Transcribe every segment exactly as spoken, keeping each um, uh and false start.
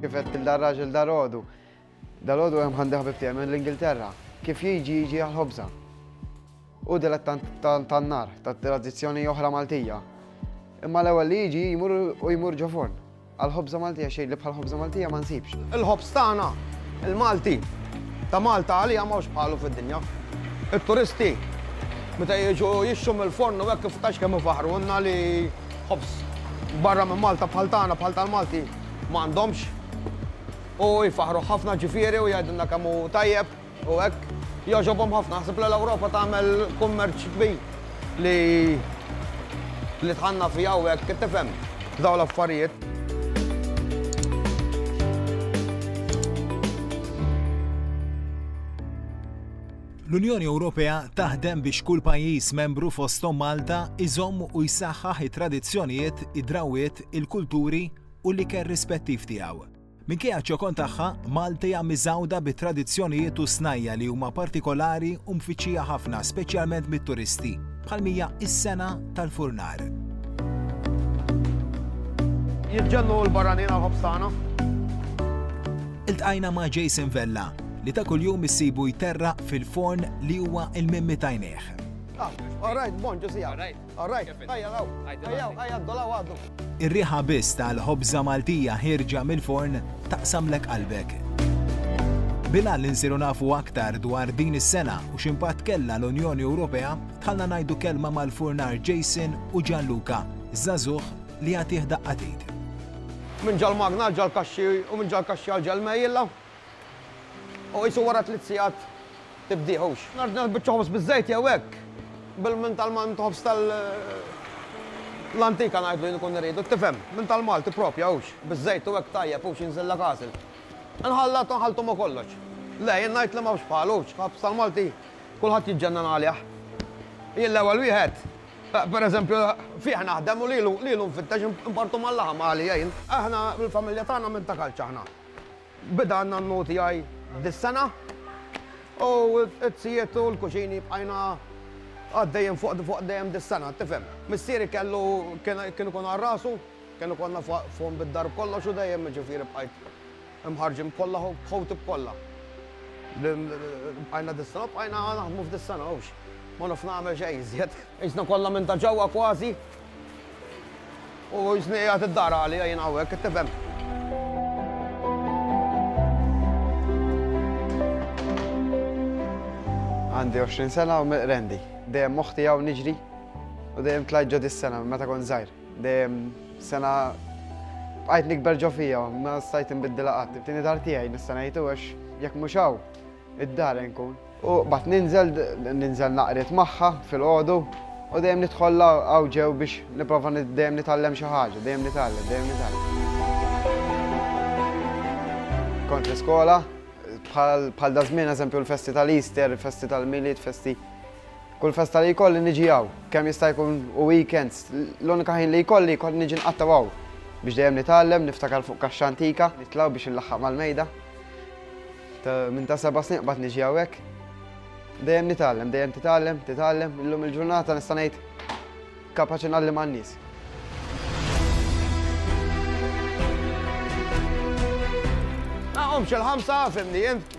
Kif qed il-raġel dalgħodu. Dalgħodu hemm għandi ħabib tiegħi mill-Ingilterra. Kif jiġi jiġi għall-ħobża. U dilettant tan-nar, tat-tradizzjoni oħra Maltija. Imma l-ewwel li jiġi jmur u jmur ġo forn. Għall-ħobża Maltija xejn li bħal ħobża Maltija ma nsibx. Il-ħobż tagħna, il-Malti, ta' Malta għalija m'hawnx bħalu fid-dinja. Il-turisti, meta jiġu jixtru mill-forn u hekk kif tax kemm ifaħrunna li ħobż barra minn Malta bħal tagħna bħal tal-Malti m'għandhomx. U jfaħru ħafna ġifieri u jgħidulna kemm hu tajjeb u hekk. Jogħġobhom ħafna, naħseb li l-Ewropa tagħmel kummerċ kbir li li tħanna fiha u hekk tifhem dawn l-affarijiet. L-Unjoni Ewropea taħdem biex kull pajjiż membru fosthom Malta iżomm u jsaħħaħ it-tradizzjonijiet, id-drawiet, il-kulturi u l-ikel rispettiv tiegħu. Minkejja ċ-ċokon tagħha, Malta hija miżgħuda bi tradizzjonijiet u snajja li huma partikolari u mfittxija ħafna, speċjalment mit-turisti, bħal mija is-sena tal-furnar. Jiġġennu l-barranin għal-ħobż tagħna. Iltqajna ma' Jason Vella li ta' kuljum issibu jterraq fil-forn li huwa il-mimmi t'għajnejh. Ah, all right, bon, ġusija. All right, ejja law, ejja, ejja, dolaw għaddu. Ir-riħa biss tal-ħobża Maltija ħierġa mill-forn taqsamlek qalbek. Bila li nsiru nafu aktar dwar din is-sena u x'impatt kellha l-Unjoni Ewropea, tħallna ngħidu kelma mal-furnar Jason u Gianluca, żagħżugħ li jagħtih daqqa t'id. Minn ġol-magna għal ġol-kaxxi u minn ġol-kaxxi għal ġol-mejjilla. U jisu wara tliet sigħat tibdiħux. Nardna biċċa ħobż biż-żejt jew hekk. Bil-minn tal-man ħobż tal- l-antika ngħidlu jien ikun irridu, tifhem, minn tal-Malti propja hux, biż-żejt u hekk tajjeb hux jinżillek għasel. Nħallat u nħalltu ma' kollox. Le, jien ngħid li m'hawnx bħalu hux, ħobż tal-Malti kulħadd jiġġennan għalih. Jien l-ewwel wieħed, per eżempju, fih naħdem u lilu lilu nfittex impartu mal-laħam għalija jien. Aħna l-familja tagħna minn ta' kalċa aħna. Bida għandna n-noti għaj dis-sena u t-sijiet u l-kuxini bqajna għaddejjem fuq fuq dejjem dis-sena, tifhem. Missieri kellu kien ikun għal rasu, kienu konna fuq bid-dar kollox u dejjem ġifieri bqajt imħarġin kollha ħowti b'kollha. Bqajna dis-sena, bqajna naħdmu f'dis-sena hux. Ma naf nagħmel xejn iżjed. Qisna kollha minn ta' ġewwa kważi. U qisni qiegħed id-dar għalija jien hawnhekk, tifhem. Għandi għoxrin sena u rendi. Dejjem moħħi hawn niġri u dejjem tlajt ġo dis-sena meta kont żgħir. Dejjem sena bqajt nikber ġo fija, ma stajt nbiddilha qatt. Tieni dar tiegħi nista' ngħidu għax jekk mhux hawn id-dar nkun. U bat ninżel, ninżel naqret magħha fil-għodu u dejjem nidħol hawn ġew biex nipprova dejjem nitgħallem xi ħaġa, dejjem nitgħallem, dejjem nitgħallem. Kont l-iskola, bħal da żmien eżempju l-festi tal-Easter, festi tal-Milied, festi kull festa li jkolli niġi hawn, kemm jista' jkun u weekends, l-unika ħin li jkolli jkolli niġi nqatta' hawn biex dejjem nitgħallem, niftakar fuq kaxxa antika, nitlgħu biex inlaħħaq mal-mejda. Minn ta' seba' snin qbad niġi hawnhekk. Dejjem nitgħallem, dejjem titgħallem, titgħallem, illum il-ġurnata nista' ngħid kapaċi ngħallem għan-nies. Naqgħomx il-ħamsa, fimni int.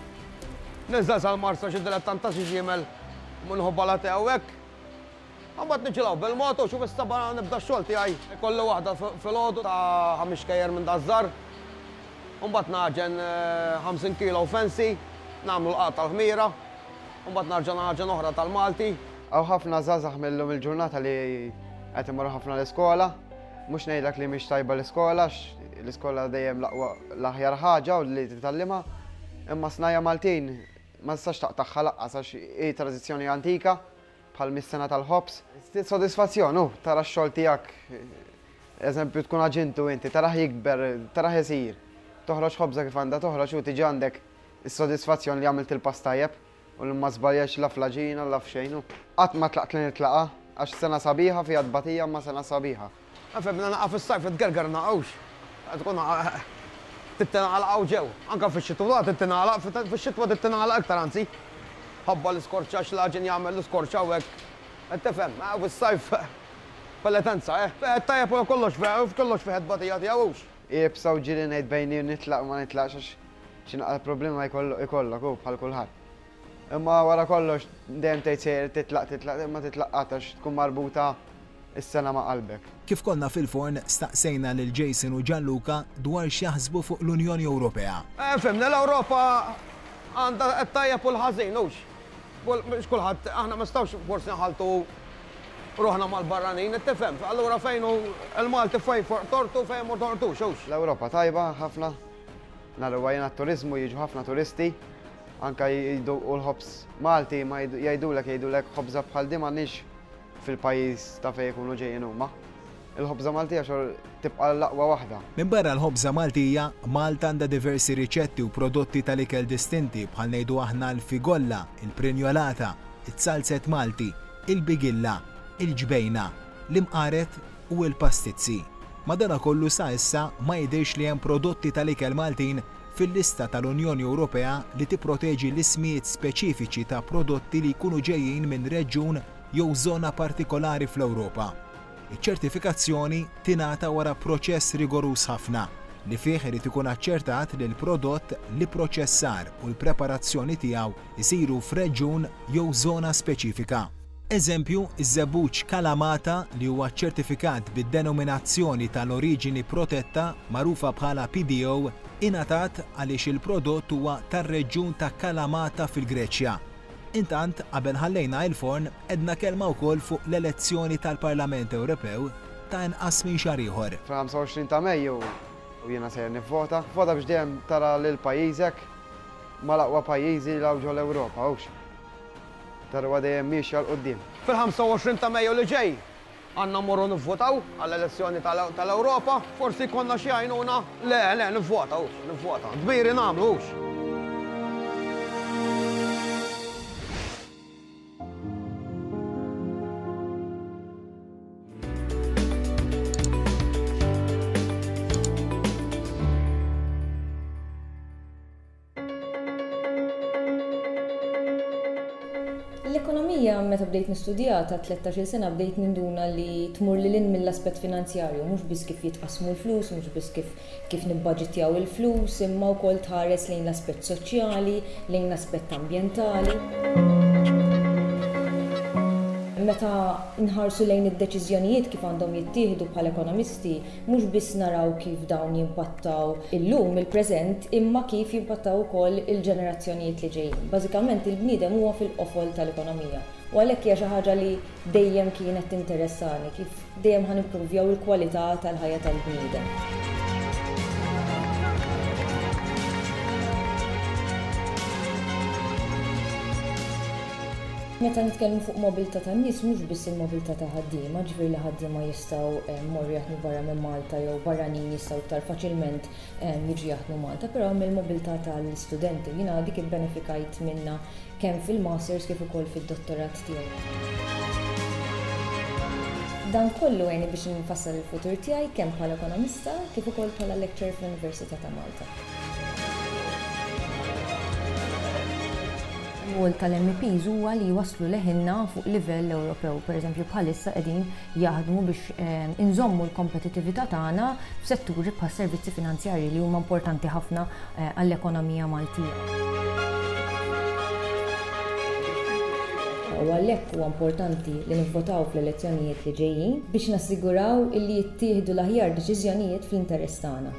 Ninżel sal-Marsa xi dilettant ta' xi ġiemel minħabba la hawnhekk. Imbagħad niġilgħu bil-moto xu fis-seba' nibda x-xogħol tiegħi. Ikolli waħda filgħodu ta' ħames xkejjer minn daż-żar. Imbagħad naġen ħamsin kilo fancy, nagħmlu l-qagħ tal-ħmira. Imbagħad narġa' naġen oħra tal-Malti. Hawn ħafna żgħażagħ millum il-ġurnata li qed imorru ħafna l-iskola. Mhux ngħidlek li mhix tajba l-iskola, għax l-iskola dejjem l-aqwa l-aħjar ħaġa u li titgħallimha. Imma snajja Maltin ma tistax taqtagħha lanqas għax hi tradizzjoni antika bħal mis-sena tal-ħobż. Sodisfazzjon hu tara x-xogħol tiegħek, eżempju tkun aġintu inti, tarah jikber, tarah isir. Toħroġ ħobża kif għandha toħroġ u tiġi għandek is-sodisfazzjon li għamilt il-pass tajjeb u li ma żbaljax la fl-għaġina la f'xejn. Qatt ma tlaqt li nitlaqa għax sena sabiħa fiha tbatija ma sena sabiħa. Fimna naqa' fis-sajf tgerger naqgħux. Tkun tittingħalaq hawn ġew. Anke fix-xitwa tittingħalaq, fix-xitwa tittingħalaq iktar anzi. Ħabba l-iskorċa x'l-għaġin jagħmel l-iskorċa u hekk. Qed tifhem, fis-sajf pelletenza, eh. Tajjeb u kollox fih, kollox fih tbatija tiegħu hux. Iebsa u ġieli ngħid bejni nitlaq ma nitlaqx għax xi naqra problema jkollok hu bħal kulħadd. Imma wara kollox dejjem tgħid sejjer titlaq titlaq imma titlaq qatt għax tkun marbuta is-sena ma' qalbek. Kif konna fil-forn staqsejna lil Jason u Gianluca dwar x'jaħsbu fuq l-Unjoni Ewropea. Eh, fhimni, l-Ewropa għandha t-tajjeb u l-ħażin, hux. Mhux kulħadd, aħna ma nistgħux forsi nħaltu ruħna mal-barranin, tifhem. Allura fejn hu l-Malti fejn tortu fejn ma tortux, hux. L-Ewropa tajba ħafna. Naraw jiena t-turiżmu jiġu ħafna turisti, anka jduqu l-ħobż Malti ma jgħidulek jgħidulek ħobża bħal din m'għandniex fil-pajjiż ta' fejn ikunu ġejjin huma. Il-ħobża Maltija xor tibqa' l-aqwa waħda. Minn barra l-ħobża Maltija, Malta għandha diversi riċetti u prodotti tal-ikel distinti bħal ngħidu aħna l-figolla, il-prinjolata, it-salzet Malti, il-bigilla, il-ġbejna, l-imqaret u l-pastizzi. Madanakollu sa issa ma jidhirx li hemm prodotti tal-ikel Maltin fil-lista tal-Unjoni Ewropea li tipproteġi l-ismijiet speċifiċi ta' prodotti li jkunu ġejjin minn reġjun jew żona partikolari fl-Ewropa. Iċ-ċertifikazzjoni tingħata wara proċess rigoruż ħafna li fih irid ikun aċċertat li l-prodott, l-ipproċessar u l-preparazzjoni tiegħu jsiru f'reġjun jew żona speċifika. Eżempju, iż-żebbuġ Kalamata li huwa ċertifikat bid-denominazzjoni tal-oriġini protetta magħrufa bħala P D O ingħatat għaliex il-prodott huwa tar-reġjun ta' Kalamata fil-Greċja. Intant, qabel ħallejna il-forn, edna kelma wkoll fuq l-elezzjoni tal-Parlament Ewropew ta' inqas minn xahar ieħor. Fil-ħamsa u għoxrin ta' Mejju u jiena sejjer nivvota. Vota biex dejjem tara lil pajjiżek mal-aqwa pajjiżi li hawn ġol-Ewropa, hux. Tara dejjem miexja 'l quddiem. Fil-ħamsa u għoxrin ta' Mejju li ġej għandna mmorru nivvotaw għall-elezzjoni tal-Ewropa, forsi jkollna xi għajnuna. Le, le, nivvota, hux, nivvota. Dmiri nagħmlu, hux. L-ekonomija meta bdejt nistudja ta' tlettax-il sena bdejt ninduna li tmur lil hinn mill-aspett finanzjarju, mhux biss kif jitqasmu l-flus, mhux biss kif, kif nibbaġitjaw il-flus, imma wkoll tħares lejn l-aspett soċjali, lejn l-aspett ambjentali. Meta nħarsu lejn id-deċiżjonijiet kif għandhom jittieħdu bħala ekonomisti, mhux biss naraw kif dawn jimpattaw illum il-preżent, imma kif jimpattaw ukoll il-ġenerazzjonijiet li ġejjin. Bażikament il-bniedem huwa fil-qofol tal-ekonomija. U għalhekk hija xi ħaġa li dejjem kienet tinteressani, kif dejjem ħa nipprovjaw il-kwalità tal-ħajja tal-bniedem. Meta nitkellmu fuq mobilità tan-nies, mhux biss il-mobilità ta' ħaddiema, ġifieri li ħaddiema jistgħu, eh, mmorru jaħdmu barra minn Malta jew barranin jistgħu iktar faċilment, eh, jiġu jaħdmu Malta, però hemm il-mobilità tal-istudenti. Jiena dik ibbenefikajt minnha kemm fil-masters kif ukoll fid-dottorat tiegħi. Dan kollu għeni biex nfassal il-futur tiegħi kemm bħala ekonomista kif ukoll bħala lecturer fl-Università ta' Malta. Ir-rwol tal-M E Ps huwa li jwasslu leħinna fuq livell Ewropew. Per eżempju, bħalissa qegħdin jaħdmu biex, ehm, inżommu l-kompetittività tagħna f'setturi bħas servizzi finanzjarji li huma importanti ħafna, eh, għall-ekonomija Maltija. U għalhekk huwa importanti li nivvotaw fl-elezzjonijiet li ġejjin biex nassiguraw illi jittieħdu l-aħjar deċiżjonijiet fl-interess tagħna.